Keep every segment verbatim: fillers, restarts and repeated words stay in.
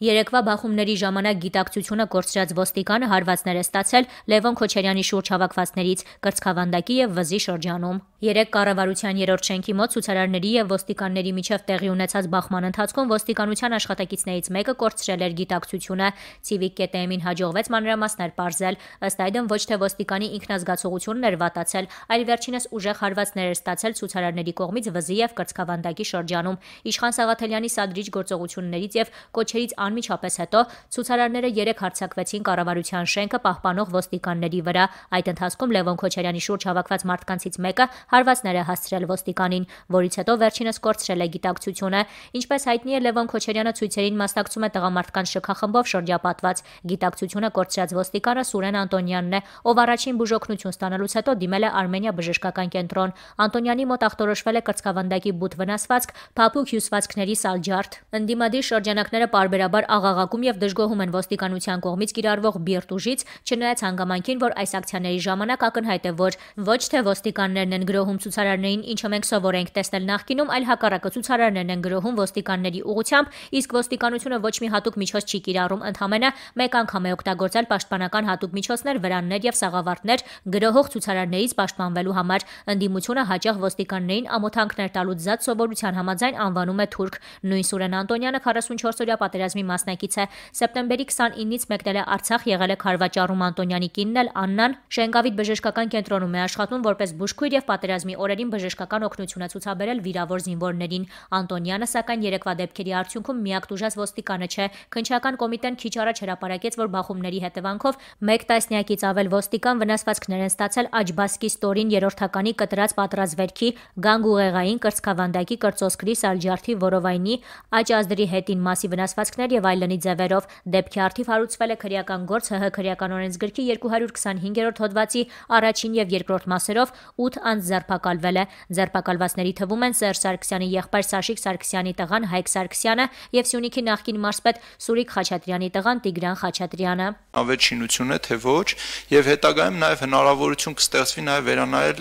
Երեկվա բախումների ժամանակ գիտակցությունը կորցրած ոստիկանը հարվածներ է ստացել Լևոն Քոչարյանի շուրջ հավաքվածներից Կրծքավանդակի եւ Վզի շրջանում։ Երեկ կառավարության երրորդ շենքի մոտ ցուցարարների եւ ոստիկանների միջև տեղի ունեցած բախման ընթացքում ոստիկանության աշխատակիցներից մեկը կորցրել էր գիտակցությունը։ Civic կետ em-ին հաջողվեց մանրամասներ պարզել, ըստ այդմ ոչ թե ոստիկանի ինքնազգացողությունն էր վատացել, այլ վերջինս ուժեղ հարվածներ էր ստացել ցուցարարների կողմից Վզի եւ Կրծքավանդակի շրջանում։ Իշխան Սաղաթելյանի սադրիչ գործողություններից եւ կոչերից անմիջապես հետո ցուցարարները երեք հարձակվեցին կառավարության շենքը պահպանող ոստիկանների վրա։ Այդ ընթացքում Լևոն Քոչարյանի շուրջ հավաքված մարդկանցից մեկը հարվածներ է հասցրել ոստիկանին, որից հետո վերջինս կորցրել է գիտակցությունը։ Ինչպես հայտնի է, Լևոն Քոչարյանը ցույցերին մասնակցում է տղամարդկանց շքախմբով շրջապատված։ Գիտակցությունը կորցրած ոստիկանը Սուրեն Անտոնյանն է, ով առաջին բուժօգնություն ստանալուց հետո դիմել է Արմենիա բժշկական կենտրոն։ Անտոնյանի մոտ ախտորոշվել է կրծքավանդակի բութ վնասվածք, փափուկ հյուսվածքների սալջարդ։ Ընդդիմադիր շրջանակները պարբերաբար աղաղակում եւ դժգոհում են ոստիկանության կողմից կիրառվող բիրտ ուժից, չնայած հանգամանքին, որ այս ակցիաների ժամանակ ակնհայտ է, որ ոչ թե ոստիկաններն են գրոհում ցուցարարներին, ինչը մենք սովոր ենք տեսնել նախկինում, այլ հակառակը ցուցարարներն են գրոհում ոստիկանների ուղղությամբ, իսկ ոստիկանությունը ոչ մի հատուկ միջոց չի կիրառում, ընդհանրապես մեկ անգամ է օգտագործել պաշտպանական հատուկ միջոցներ, վրաններ եւ սաղավարտներ գրոհող ցուցարարներից պաշտպանվելու համար։ Ընդդիմությունը հաճախ ոստիկաններին ամոթանքներ տալուց զատ սովորության համաձայն անվանում է թուրք։ Նույն Սուրեն Անտոնյանը քառասունչորսօրյա պատերազմի մասնակից է։ Սեպտեմբերի քսանինից մեկնել է Արցախ, եղել է Քարվաճառում Անտոնյանի կինն էլ Աննան Շենգավիթ բժշկական կենտրոնում է աշխատում որպես բուժքույր եւ պատերազմի օրերին բժշկական օգնություն է ցուցաբերել վիրավոր զինվորներին։ Անտոնյանը սակայն երեկվա դեպքերի արդյունքում միակ տուժած ոստիկանը չէ։ Քննչական կոմիտեն քիչ առաջ հրապարակեց, որ բախումների հետևանքով մեկ տասնյակից ավել ոստիկան վնասվածքներ են ստացել Աջբասկի ստորին երրորդականի կտրած պատրազվերքի, գանգուղեղային, կրծքավանդակի, կրծոսկրի, սալջարդի, որովայնի, աջ ազդրի հետին մասի վնասվածքներ եւ այլնի ձևերով։ Դեպքի առթիվ հարուցվել է քրեական գործ ՀՀ քրեական օրենսգրքի երկու հարյուր քսանհինգերորդ հոդվածի առաջին եւ երկրորդ մասերով ութ անձ ձերբակալվել է։ Ձերբակալվածների թվում են Սերժ Սարգսյանի եղբայր Սաշիկ Սարգսյանի տղան Հայկ Սարգսյանը եւ Սյունիքի նախկին մարզպետ Սուրիկ Խաչատրյանի տղան Տիգրան Խաչատրյանը։ Ավերջինություն է թե ոչ, եւ հետագայում նաեւ հնարավորություն կստեղծվի նաեւ վերանայել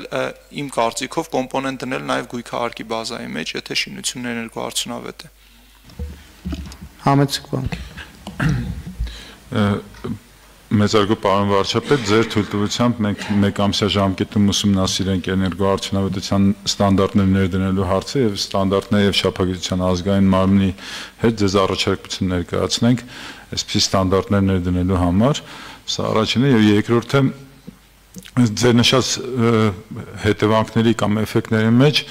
իմ կարծիքով կոմպոնենտ դնել նաեւ գույքահարկի բազայի մեջ, եթե շինությունն էներգոարդյունավետ է։ Համեցեք բանկ։ Մեծարգո պարոն վարչապետ, ձեր թույլտվությամբ մենք մեկ ամսյա ժամկետում ուսումնասիրենք էներգոարդյունավետության ստանդարտներ ներդնելու հարցը եւ ստանդարտներ եւ շփագիտության ազգային մարմնի հետ ձեզ առաջարկություն ներկայացնենք այսպիսի ստանդարտներ ներդնելու համար։ Սա առաջինը եւ երկրորդը ձեր նշած հետևանքների կամ էֆեկտների մեջ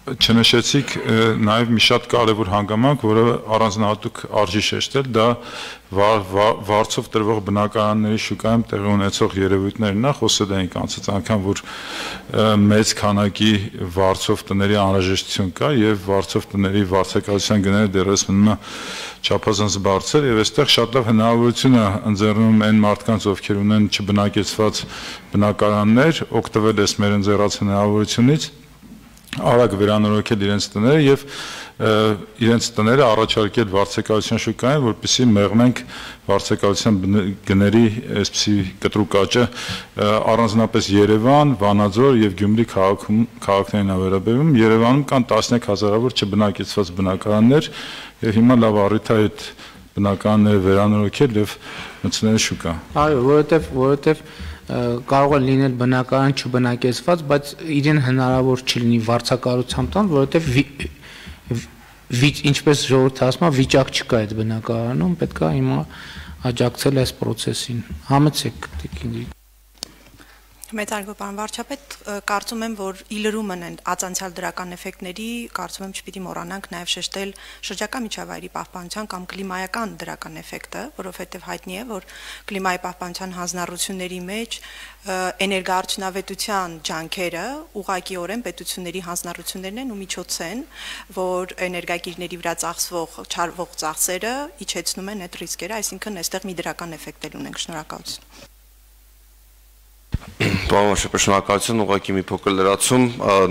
չնշեցիք նաև մի շատ կարևոր հանգամանք, որը առանձնահատուկ արժի շեշտել, դա վարձով տրվող բնակարանների շուկայում տեղի ունեցող երևույթներն է, խոսել էինք անցած անգամ, որ մեծ քանակի վարձով տների անհրաժեշտություն կա եւ վարձով տների վարձակալության գները դեռևս մնում է չափազանց բարձր եւ այստեղ շատ լավ հնարավորություն է ընձեռնում այն մարդկանց, ովքեր ունեն չբնակեցված բնակարաններ, օգտվել ես մեր ընձեռած հնարավորությունից արագ վերանորոգել իրենց տները եւ իրենց տները առաջարկել վարձակալության շուկային, որպեսզի մեղմենք վարձակալության գների այսպիսի կտրուկ աճը առանձնապես Երևան, Վանաձոր եւ Գյումրի քաղաքներին ավերաբերում։ Երևանում կան տասնյակ հազարավոր չբնակեցված բնակարաններ եւ հիմա լավ առիթ է այդ բնակարանները վերանորոգել եւ մտցնել շուկա։ Այո, որովհետեւ որովհետեւ կարող է լինել բնակարան չբնակեցված, բայց իրեն հնարավոր չլինի վարձակալությամբ տան, որովհետև ինչպես ժողովուրդը ասում է, վիճակ չկա այդ բնակարանում, պետք է հիմա աջակցել այս process-ին։ Համեցեք տիկին։ Մեծարգո պարոն վարչապետ, կարծում եմ, որ ի լրումն են ածանցյալ դրական էֆեկտների, կարծում եմ չպիտի մոռանանք նաև շեշտել շրջակա միջավայրի պահպանության կամ կլիմայական դրական էֆեկտը, որովհետև հայտնի է, որ կլիմայի պահպանության հանձնառությունների մեջ էներգոարդյունավետության ջանքերը ուղղակիորեն պետությունների հանձնառություններն են ու միջոց են, որ էներգակիրների վրա ծախսվող չարվող ծախսերը իջեցնում են այդ ռիսկերը, այսինքն այստեղ մի դրական էֆեկտ էլ ունենք։ Շնորհակալություն։ Պարոն վարչապետ, շնորհակալություն, ուղղակի մի փոքր լրացում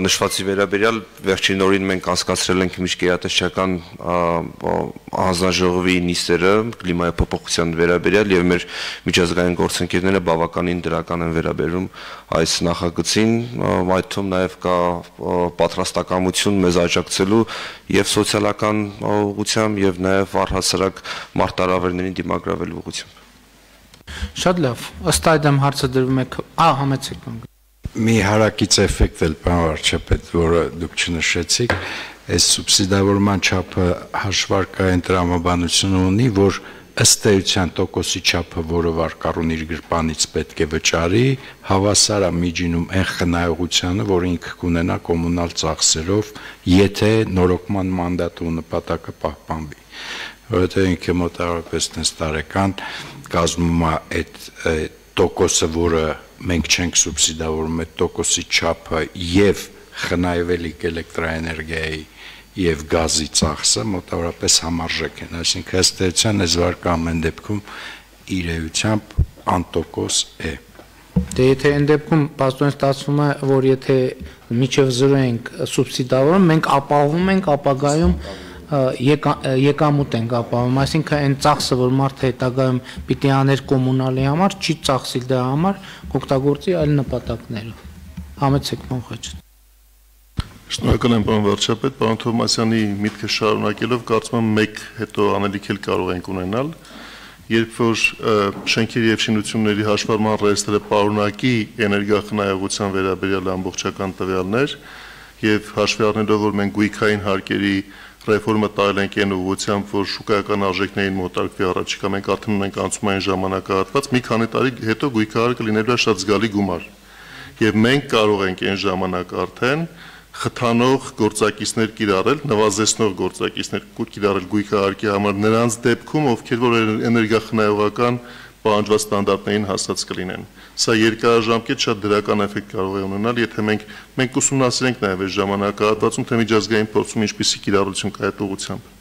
նշվածի վերաբերյալ վերջին օրին մենք անցկացրել ենք միջգերատեսչական հանձնաժողովի նիստերը կլիմայի փոփոխության վերաբերյալ եւ մեր միջազգային գործընկերները բավականին դրական են վերաբերում այս նախագծին, այդ թվում նաեւ կա պատրաստակամություն մեզ աջակցելու եւ սոցիալական ուղղությամբ եւ նաեւ առհասարակ մարտահրավերներին դիմագրավելու ուղղությամբ։ Շատ լավ, ըստ այդմ հարցը դրվում է, ա, համեցեք անգամ։ Մի հարակից էֆեկտ էլ պարոն վարչապետ, որը դուք չնշեցիք, այս սուբսիդավորման չափը հաշվարկային տրամաբանություն ունի, որ ըստ էության տոկոսի չափը, որը վարկառուն իր գրպանից պետք է վճարի, հավասար է միջինում այն խնայողությանը, որ ինքը կունենա կոմունալ ծախսերով, եթե նորոգման մանդատը ու նպատակը պահպանվի։ Որովհետև ինքը մոտավորապես տես տարեկան կազմում է այդ տոկոսը, որը մենք չենք սուբսիդավորում, այդ տոկոսի չափը եւ խնայվելիք էլեկտրաէներգիայի եւ գազի ծախսը մոտավորապես համարժեք են, այսինքն ըստ էության այս վարկը ամեն դեպքում իր էությամբ անտոկոս է։ Դե եթե այն դեպքում պաստորեն ստացվում է, որ եթե միջև զրո ենք սուբսիդավորում, մենք ապահովում ենք ապագայում եկամուտ ենք ապահովում, այսինքն այն ծախսը, որ մարդը հետագայում պիտի աներ կոմունալի համար, չի ծախսիլ դրա համար, կօգտագործի այլ նպատակներով։ Համեցեք պարոն Խաչատրյան։ Շնորհակալ եմ պարոն վարչապետ, պարոն Թովմասյանի միտքը շարունակելով կարծում եմ մեկ հետո անելիք էլ կարող ենք ունենալ, երբ որ շենքերի եւ շինությունների հաշվառման ռեեստրը պարունակի էներգախնայողության վերաբերյալ ամբողջական տվյալներ եւ հաշվի առնելով, որ մենք գույքային հարկերի ռեֆորմը տարել ենք այն ուղղությամբ, որ շուկայական արժեքներին մոտարկվի առաջիկա, մենք արդեն ունենք անցումային ժամանակահատված, մի քանի տարի հետո գույքահարկը լինելու է շատ զգալի գումար։ Եվ մենք կարող ենք այն ժամանակ արդեն խթանող գործակիցներ կիրառել, նվազեցնող գործակիցներ կիրառել գույքահարկի համար նրանց դեպքում, ովքեր որ էներգախնայողական պահանջված ստանդարտներին հասած կլինեն։ Սա երկարաժամկետ շատ դրական էֆեկտ կարող է ունենալ, եթե մենք մենք ուսումնասիրենք նաև այս ժամանակահատվածում, թե միջազգային փորձում ինչպիսի կիրառություն կա այդ ուղղությամբ։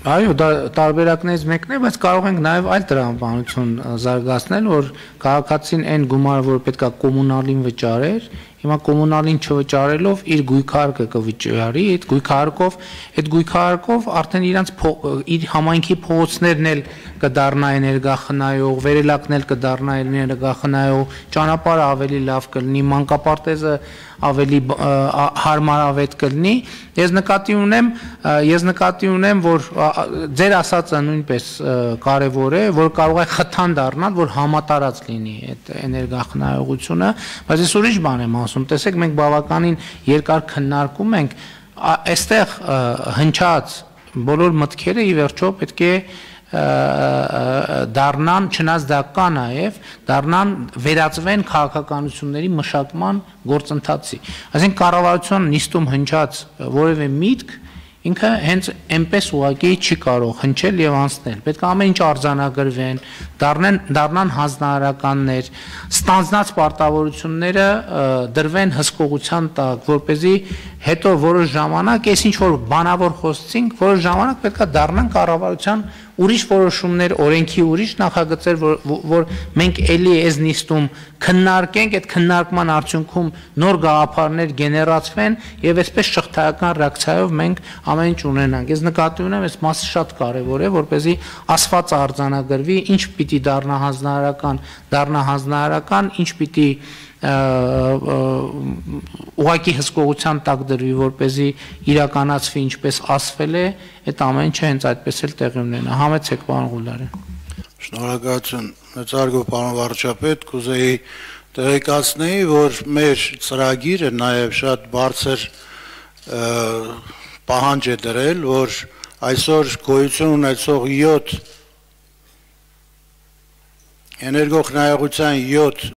Այո, դա տարբերակներից մեկն է, բայց կարող ենք նաև այլ տրամաբանություն զարգացնել, որ քաղաքացին այն գումարը, որ պետքա կոմունալին վճարեր, հիմա կոմունալին չվճարելով իր գույքահարկը կվճարի, այդ գույքահարկով, այդ գույքահարկով արդեն իրանց իր համայնքի փողոցներն էլ կդառնա էներգախնայող, վերելակն էլ կդառնա էներգախնայող, ճանապարհը ավելի լավ կլինի, մանկապարտեզը ավելի հարմարավետ կլինի։ Ես նկատի ունեմ, ես նկատի ունեմ, որ ձեր ասածը նույնպես կարևոր է, որ կարող է խթան դառնալ, որ համատարած լինի այդ էներգախնայողությունը, բայց ես ուրիշ բան եմ ասում, տեսեք, մենք բավականին երկար քննարկում ենք, այստեղ հնչած բոլոր մտքերը ի վերջո պետք է դառնան, չնայած դա կա նաև, դառնան վերածվեն քաղաքականությունների մշակման գործընթացի։ Այսինքն կառավարության նիստում հնչած որևէ միտք ինքը հենց այնպես ուղղակի չի կարող հնչել եւ անցնել։ Պետք է ամեն ինչ արձանագրվեն, դառնան դառնան հանձնարարականներ, ստանձնած պարտավորությունները դրվեն հսկողության տակ, որպեսզի հետո որոշ ժամանակ այս ինչ որ բանավոր խոսեցինք, որոշ ժամանակ պետք է դառնան կառավարության ուրիշ որոշումներ, օրենքի ուրիշ նախագծեր, որ, որ մենք էլի այս նիստում քննարկենք, այդ քննարկման արդյունքում նոր գաղափարներ գեներացվեն եւ այսպես շղթայական ռեակցիայով մենք ամեն ինչ ունենանք։ Ես նկատի ունեմ, այս մասը շատ կարեւոր է, որպեսզի ասվածը արձանագրվի, ինչ պիտի դառնա հանձնարարական, դառնա հանձնարարական, ինչ պիտի ուղղակի հսկողության տակ դրվի, որպեսզի իրականացվի ինչպես ասվել է, այդ ամեն ինչը հենց այդպես էլ տեղի ունենա։ Համեցեք պարոն Ղուլարյան։ Շնորհակալություն, մեծարգո պարոն վարչապետ, կուզեի տեղեկացնեի, որ մեր ծրագիրը նաև շատ բարձր պահանջ է դրել, որ այսօր գոյություն ունեցող յոթ էներգոխնայողության յոթ